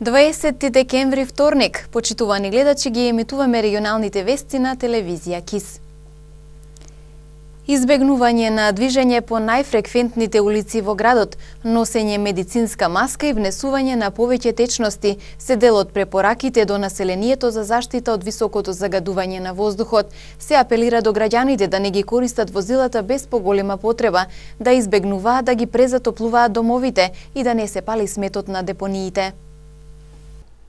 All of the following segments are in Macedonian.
20 декември вторник, почитувани гледачи, ги емитуваме регионалните вести на телевизија КИС. Избегнување на движење по најфреквентните улици во градот, носење медицинска маска и внесување на повеќе течности се дел од препораките до населението за заштита од високото загадување на воздухот. Се апелира до граѓаните да не ги користат возилата без поголема потреба, да избегнуваат да ги презатоплуваат домовите и да не се пали сметот на депониите.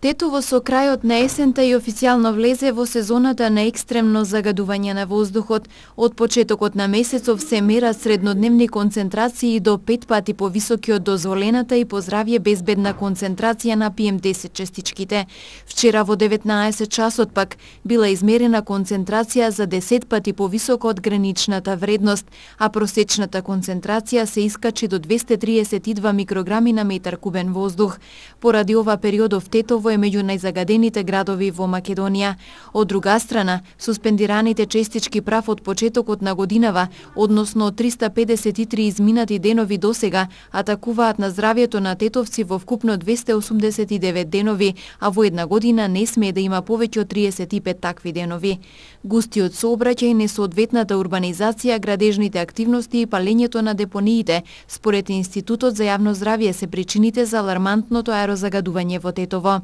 Тетово со крајот на есента и официјално влезе во сезоната на екстремно загадување на воздухот. Од почетокот на месецов се мерат среднодневни концентрации до 5 пати повисоки од дозволената и по здравје безбедна концентрација на PM10 честичките. Вчера во 19 часот пак била измерена концентрација за 10 пати повисока од граничната вредност, а просечната концентрација се искачи до 232 микрограми на метар кубен воздух. Поради ова периодов Тетово е меѓу најзагадените градови во Македонија. Од друга страна, суспендираните честички прав од почетокот на годинава, односно од 353 изминати денови досега, атакуваат на здравјето на тетовци во вкупно 289 денови, а во една година не смее да има повеќе од 35 такви денови. Густиот сообраќај, несоодветната урбанизација, градежните активности и палењето на депониите, според Институтот за јавно здравје, се причините за алармантното аерозагадување во Тетово.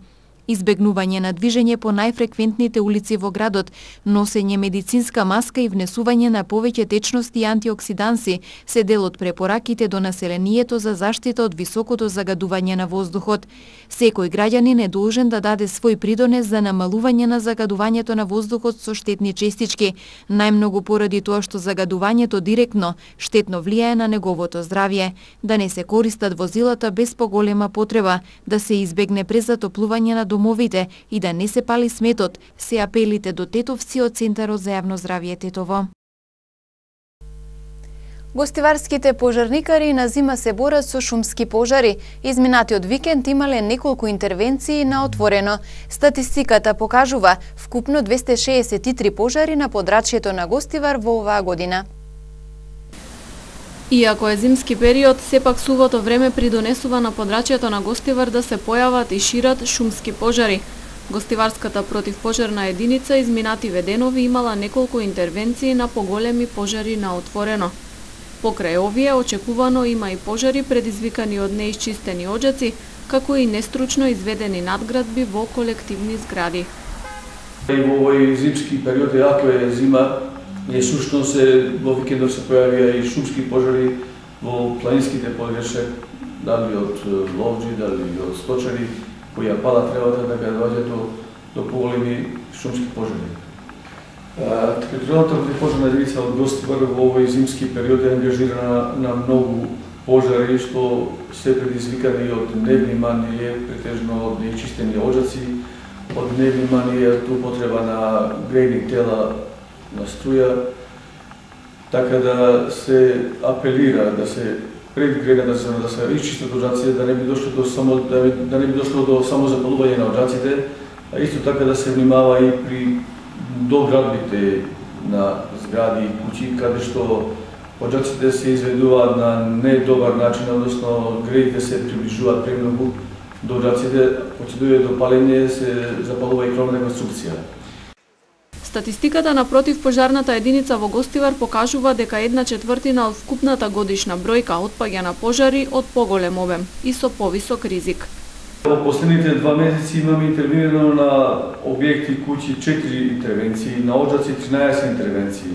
Избегнување на движење по најфреквентните улици во градот, носење медицинска маска и внесување на повеќе течности и антиоксиданси се дел од препораките до населението за заштита од високото загадување на воздухот. Секој граѓанин е должен да даде свој придонес за намалување на загадувањето на воздухот со штетни честички, најмногу поради тоа што загадувањето директно штетно влијае на неговото здравје, да не се користат возилата без поголема потреба, да се избегне презатоплување на домовите и да не се пали сметот, се апелите до тетовци од Центарот за јавно здравје Тетово. Гостиварските пожарникари на зима се борат со шумски пожари. Изминатиот викенд имале неколку интервенции на отворено. Статистиката покажува вкупно 263 пожари на подрачјето на Гостивар во оваа година. Иако е зимски период, сепак сувото време придонесува на подрачјето на Гостивар да се појават и шират шумски пожари. Гостиварската противпожарна единица изминативе денови имала неколку интервенции на поголеми пожари на отворено. Покрај овие, очекувано има и пожари предизвикани од неисчистени оџаци, како и нестручно изведени надградби во колективни згради. И во овој зимски период, ако е зима, и сушно во викендов се појавија и шумски пожари во планинските подрачја, дали од ловџи, дали од сточари, кои ја пала тревата да ја доаѓа до поголеми шумски пожари. Територијалната противпожарна единица од Гостивар во овој зимски период е ангажирана на многу пожари што се предизвикани од невнимание, претежно од неичистени оџаци, од невнимание, употреба на грејни тела на струја, така да се апелира да се пред грејната сезона да се изчистат оџаците, да не би дошло до самозапалување на оџаците, а исто така да се внимава и при доградбите на згради и куќи, каде што оџаците се изведуваат на недобар начин, односно грејите се приближуваат премногу до оџаците, кога се дојде до палење се запалува и кровна конструкција. Статистиката на противпожарната единица во Гостивар покажува дека 1/4 од вкупната годишна бројка отпаѓа на пожари од поголем обем и со повисок ризик. Во последните 2 месеци имаме интервенирано на објекти, куќи 4 интервенции, на оџаци 13 интервенции.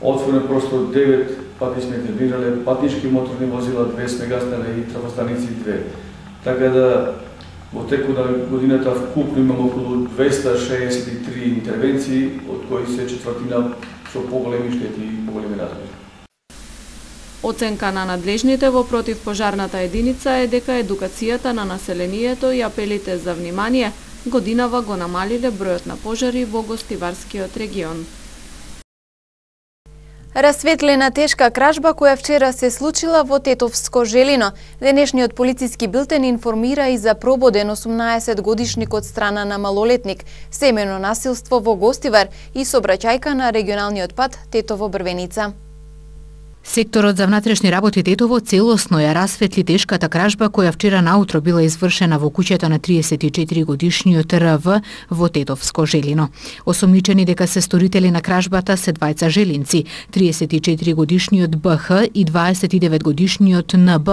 Отворен простор 9 пати сме интервенирале, патнички моторни возила 2 сме гаснеле и трафостаници 2. Така да во текот на годината вкупно имаме околу 263 интервенции, од кои се четвртина со поголеми штети и поголеми размери. Оценка на надлежните во противпожарната единица е дека едукацијата на населението и апелите за внимание годинава го намалиле бројот на пожари во Гостиварскиот регион. Расветлена тешка кражба која вчера се случила во Тетовско Желино. Денешниот полициски билтен информира и за прободен 18-годишник од страна на малолетник, семено насилство во Гостивар и сообраќајка на регионалниот пат Тетово-Брвеница. Секторот за внатрешни работи Тетово целосно ја расветли тешката кражба која вчера наутро била извршена во куќата на 34-годишниот РВ во Тетовско Желино. Осомничени дека се сторители на кражбата се двајца желинци, 34-годишниот БХ и 29-годишниот НБ.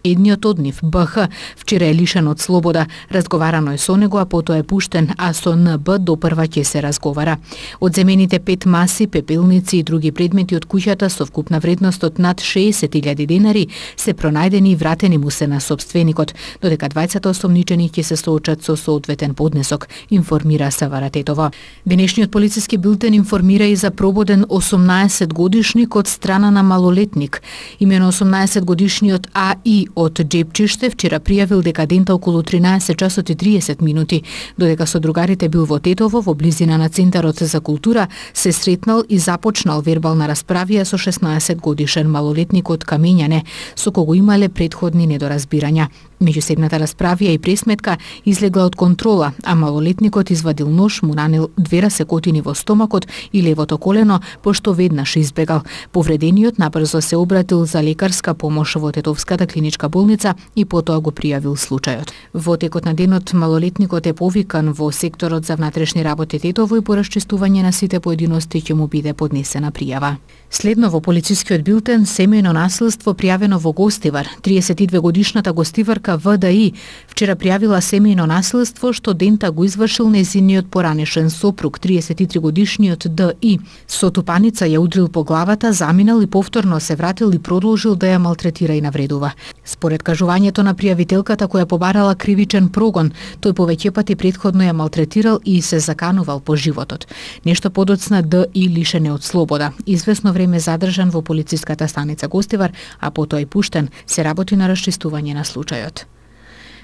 Едниот од нив, БХ, вчера е лишен од слобода. Разговарано е со него, а потоа е пуштен, а со НБ допрва ќе се разговара. Одземените 5 маси, пепелници и други предмети од куќата со вкупна вредност од над 60.000 денари се пронајдени и вратени му се на собственикот, додека двајцата осомничени ќе се соочат со соодветен поднесок, информира СВР Тетово. Денешниот полициски билтен информира и за прободен 18-годишник од страна на малолетник. Имено 18-годишниот АИ од Джепчиште вчера пријавил дека дента околу 13 часот и 30 минути, додека со другарите бил во Тетово, во близина на Центарот за култура, се сретнал и започнал вербална расправија со 16-годишен малолетник од Камењане, со кого имале претходни недоразбирања. Меѓусебната расправија и пресметка излегла од контрола, а малолетникот извадил нож, му нанел 2 расекотини во стомакот и левото колено, пошто веднаш избегал. Повредениот набрзо се обратил за лекарска помош во Тетовската клиничка болница и потоа го пријавил случајот. Во текот на денот малолетникот е повикан во секторот за внатрешни работи Тетово и по расчистување на сите поединости ќе му биде поднесена пријава. Следно во полицискиот билтен семејно насилство пријавено во Гостивар. 32-годишната гостиварка ВДИ вчера пријавила семејно насилство што дента го извршил нејзиниот поранешен сопруг, 33-годишниот ДИ. Со тупаница ја удрил по главата, заминал и повторно се вратил и продолжил да ја малтретира и навредува. Според кажувањето на пријавителката која побарала кривичен прогон, тој повеќе пати претходно ја малтретирал и се заканувал по животот. Нешто подоцна ДИ лишен е од слобода. Извесно време задржан во полициската станица Гостивар, а потоа и пуштен, се работи на расчистување на случајот.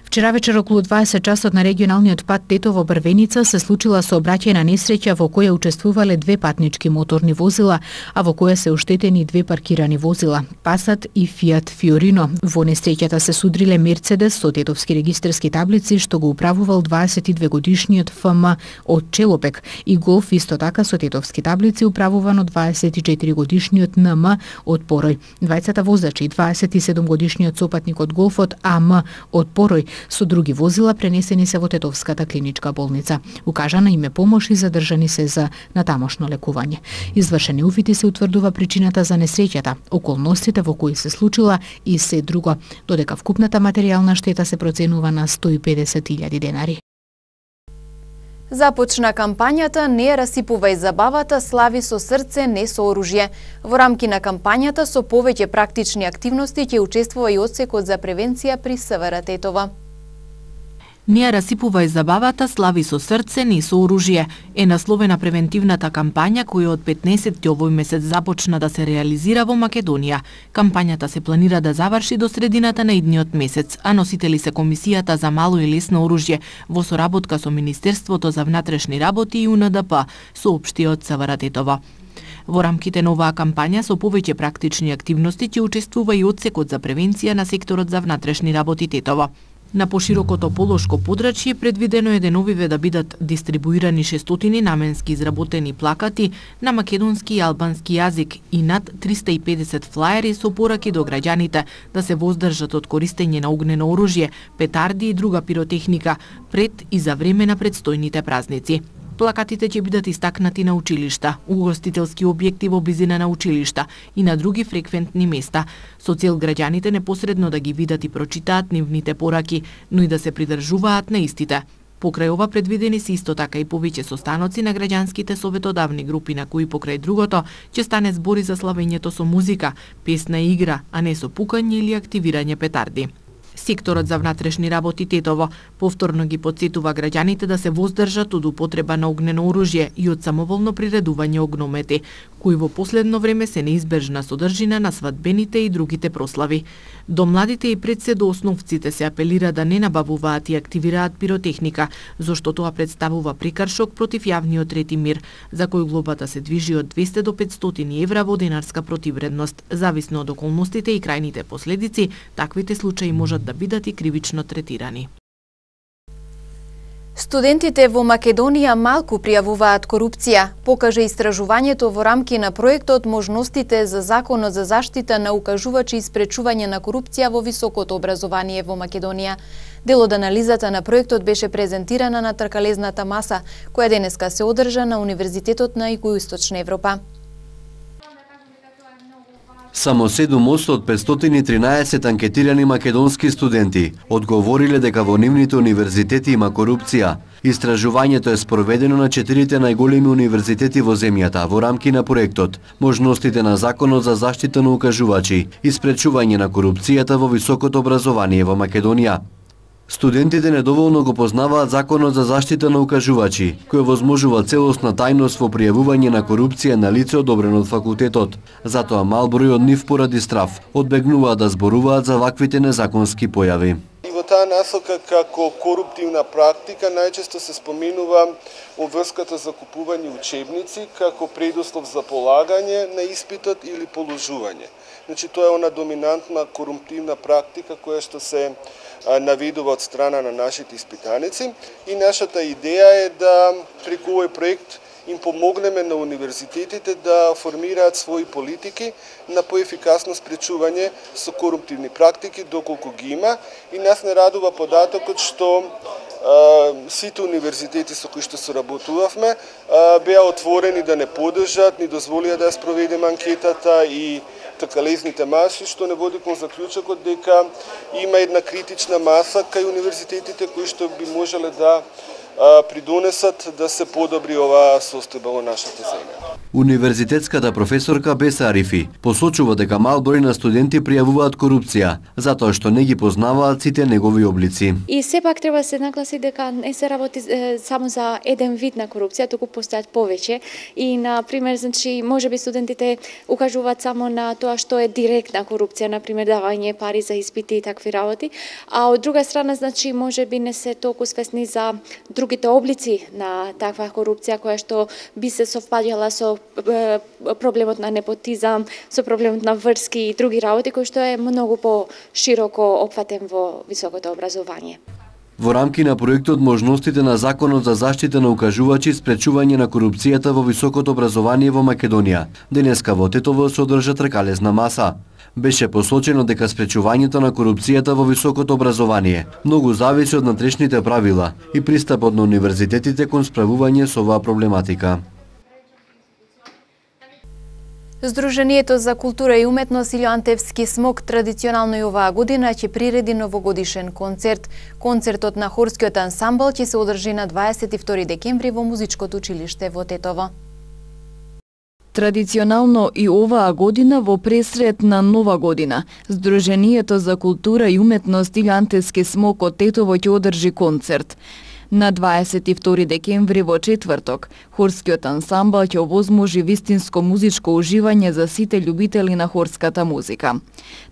Вчера вечер околу 20 часот на регионалниот пат Тетово-Брвеница се случила сообраќајна несреќа во која учествувале 2 патнички моторни возила, а во која се оштетени 2 паркирани возила, Пасат и Фиат Фиорино. Во несреќата се судриле Мерцедес со тетовски регистарски таблици што го управувал 22-годишниот ФМ од Челопек и Голф исто така со тетовски таблици управуван од 24-годишниот НМ од Порој. Двајцата возачи и 27-годишниот сопатник од Голфот АМ од Порој со други возила пренесени се во Тетовската клиничка болница. Укажана им е помош и задржани се за натамошно лекување. Извршени уфити се утврдува причината за несреќата, околностите во кои се случила и се друго, додека вкупната материјална штета се проценува на 150.000 денари. Започна кампањата "Не ја расипувај забавата, слави со срце, не со оружје". Во рамки на кампањата со повеќе практични активности ќе учествува и одсекот за превенција при СВР Тетово. Не ја расипувај забавата, слави со срце, не со оружје е насловена превентивната кампања која од 15 овој месец започна да се реализира во Македонија. Кампањата се планира да заврши до средината на идниот месец, а носители се Комисијата за мало и лесно оружје во соработка со Министерството за внатрешни работи и УНДП, соопшти од СВР Тетово. Во рамките на оваа кампања со повеќе практични активности ќе учествува и одсекот за превенција на секторот за внатрешни работи Тетово. На поширокото полошко подрачје предвидено е деновиве да бидат дистрибуирани 600 наменски изработени плакати на македонски и албански јазик и над 350 флаери со пораки до граѓаните да се воздржат од користење на огнено оружје, петарди и друга пиротехника пред и за време на предстојните празници. Плакатите ќе бидат истакнати на училишта, угостителски објекти во близина на училишта и на други фреквентни места, со цел граѓаните непосредно да ги видат и прочитаат нивните пораки, но и да се придржуваат на истите. Покрај ова предвидени се исто така и повеќе состаноци на граѓанските советодавни групи на кои покрај другото ќе стане збори за славењето со музика, песна и игра, а не со пукање или активирање петарди. Секторот за внатрешни работи Тетово повторно ги потсетува граѓаните да се воздржат од употреба на огнено оружје и од самоволно приредување огномети, кои во последно време се неизбежна содржина на свадбените и другите прослави. До младите и пред се до основците се апелира да не набавуваат и активираат пиротехника, зашто тоа представува прекршок против јавниот ред и мир, за кој глобата се движи од 200 до 500 евра во денарска противредност. Зависно од околностите и крајните последици, таквите случаи можат да бидат и кривично третирани. Студентите во Македонија малку пријавуваат корупција, покаже истражувањето во рамки на проектот Можностите за законот за заштита на укажувачи и спречување на корупција во високото образование во Македонија. Дел од анализата на проектот беше презентирана на тркалезната маса, која денеска се одржа на Универзитетот на Југоисточна Европа. Само 7% од 513 анкетирани македонски студенти одговориле дека во нивните универзитети има корупција. Истражувањето е спроведено на 4 најголеми универзитети во земјата во рамки на проектот Можностите на законот за заштита на укажувачи и спречување на корупцијата во високото образование во Македонија. Студентите недоволно го познаваат законот за заштита на укажувачи, кој возможува целосна тајност во пријавување на корупција на лице одобрено од факултетот. Затоа мал број од нив поради страв одбегнуваат да зборуваат за ваквите незаконски појави. И во таа насока како коруптивна практика најчесто се споменува обврската за купување учебници како предуслов за полагање на испитот или положување. Значи тоа е она доминантна коруптивна практика која што се наведува од страна на нашите испитаници и нашата идеја е да преку овој проект им помогнеме на универзитетите да формираат своји политики на поефикасно спречување со коруптивни практики доколку ги има и нас не радува податокот што сите универзитети со кои што соработувавме беа отворени да не поддржат, ни дозволија да ја спроведеме анкетата и тркалезните маси, што не води кон заклучокот дека има една критична маса кај универзитетите кои што би можеле да придонесат да се подобри оваа состојба во нашата земја. Универзитетската професорка Беса Арифи посочува дека мал број на студенти пријавуваат корупција, затоа што не ги познаваат сите негови облици. И сепак треба да се нагласи дека не се работи само за еден вид на корупција, туку постојат повеќе и на пример, значи, можеби студентите укажуваат само на тоа што е директна корупција, на пример давање пари за испити и такви работи, а од друга страна, значи, можеби не се толку свесни за другите облици на таква корупција која што би се совпаѓала со проблемот на непотизам, со проблемот на врски и други работи кои што е многу по-широко опфатен во високото образование. Во рамки на проектот Можностите на законот за заштита на укажувачи и спречување на корупцијата во високото образование во Македонија, денеска во Тетово се одржа тркалезна маса. Беше посочено дека спречувањето на корупцијата во високото образование многу зависи од натрешните правила и пристапот на универзитетите кон справување со оваа проблематика. Сдруженијето за култура и уметност Илјоантевски смок традиционално и оваа година ќе приреди новогодишен концерт. Концертот на хорскиот ансамбл ќе се одржи на 22 декември во музичкото училиште во Тетово. Традиционално и оваа година во пресред на Нова година, Сдруженијето за култура и уметност Илјоантевски смок од Тетово ќе одржи концерт. На 22 декември во четврток, хорскиот ансамбл ќе овозможи вистинско музичко уживање за сите љубители на хорската музика.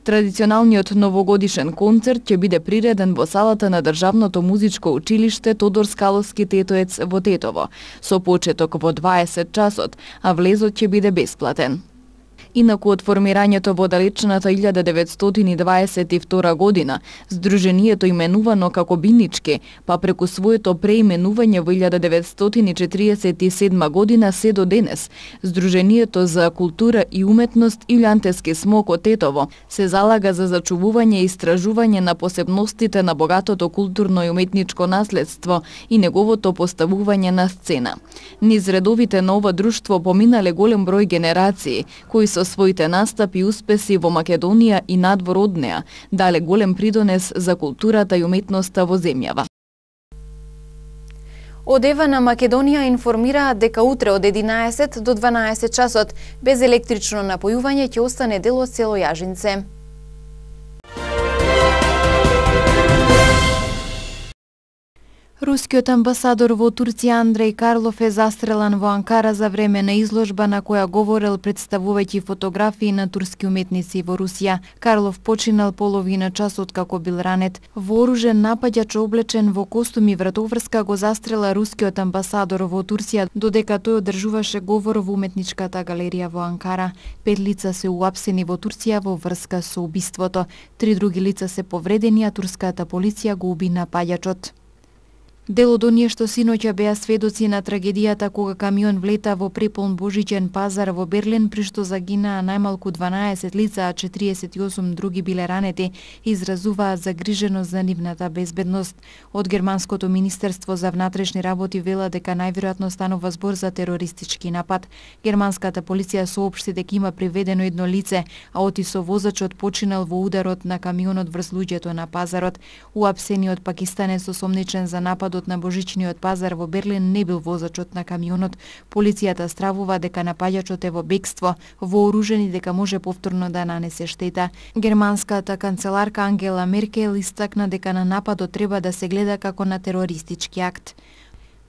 Традиционалниот новогодишен концерт ќе биде приреден во салата на Државното музичко училиште Тодор Скаловски Тетоец во Тетово, со почеток во 20 часот, а влезот ќе биде бесплатен. Инаку од формирањето во далечната 1922 година, Сдруженијето именувано како Бинички, па преку своето преименување во 1947 година се до денес, Сдруженијето за култура и уметност Илјоантевски смок од Тетово се залага за зачувување и истражување на посебностите на богатото културно и уметничко наследство и неговото поставување на сцена. Низ редовите на ова друштво поминале голем број генерации, кои со своите настапи и успеси во Македонија и надвор од неа дале голем придонес за културата и уметноста во земјава. Од ЕВА на Македонија информираат дека утре од 11 до 12 часот без електрично напојување ќе остане дел од село Јажинце. Рускиот амбасадор во Турција Андреј Карлов е застрелан во Анкара за време на изложба на која говорел представувајќи фотографии на турски уметници во Русија. Карлов починал половина час откако бил ранет. Вооружен напаѓач облечен во костум и вратоврска го застрела рускиот амбасадор во Турција додека тој одржуваше говор во уметничката галерија во Анкара. 5 лица се уапсени во Турција во врска со убиството. 3 други лица се повредени, а турската полиција го уби напаѓачот. Дел од оние што синоќа беа сведоци на трагедијата кога камион влета во преполн божичен пазар во Берлин, при што загинаа најмалку 12 лица, а 48 други биле ранети, изразуваат загриженост за нивната безбедност. Од германското министерство за внатрешни работи вела дека најверојатно станува збор за терористички напад. Германската полиција соопшти дека има приведено едно лице, а отисо возачот починал во ударот на камионот врз луѓето на пазарот. Уапсениот пакистанец осомничен за напад на божичниот пазар во Берлин не бил возачот на камионот. Полицијата стравува дека напаѓачот е во бегство, вооружен и дека може повторно да нанесе штета. Германската канцеларка Ангела Меркел истакна дека на нападот треба да се гледа како на терористички акт.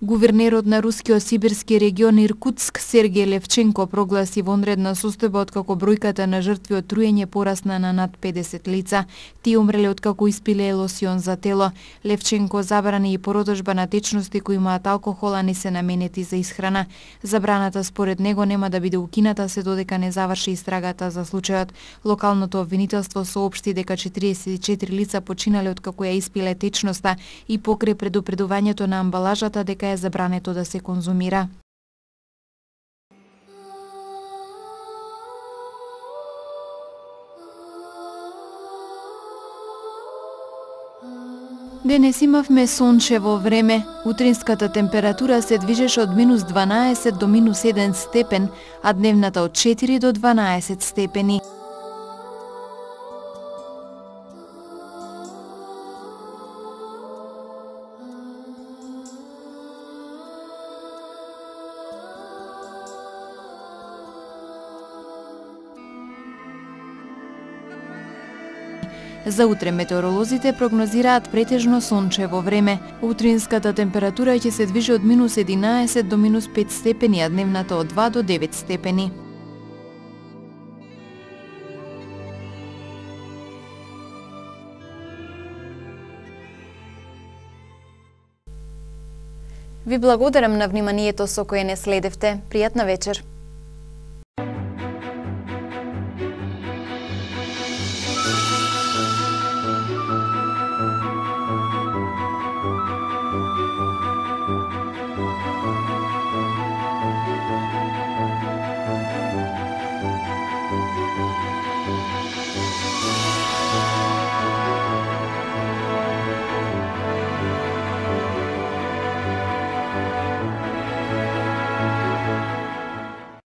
Гувернерот на рускиот сибирски регион Иркутск Сергеј Левченко прогласи вонредна состојба откако бројката на жртви од труење порасна на над 50 лица. Тие умреле откако испиле лосион за тело. Левченко забрани и продажба на течности кои имаат алкохол, а не се наменети за исхрана. Забраната според него нема да биде укината се додека не заврши истрагата за случајот. Локалното обвинителство соопшти дека 44 лица починале откако ја испиле течноста и покрај предупредувањето на амбалажата дека е забрането да се конзумира. Денес имавме сончево време. Утринската температура се движеше од -12 до -1 степен, а дневната од 4 до 12 степени. За утре метеоролозите прогнозираат претежно сончево време. Утринската температура ќе се движи од -11 до -5 степени, а дневната од 2 до 9 степени. Ви благодарам на вниманието со кое не следевте. Пријатна вечер.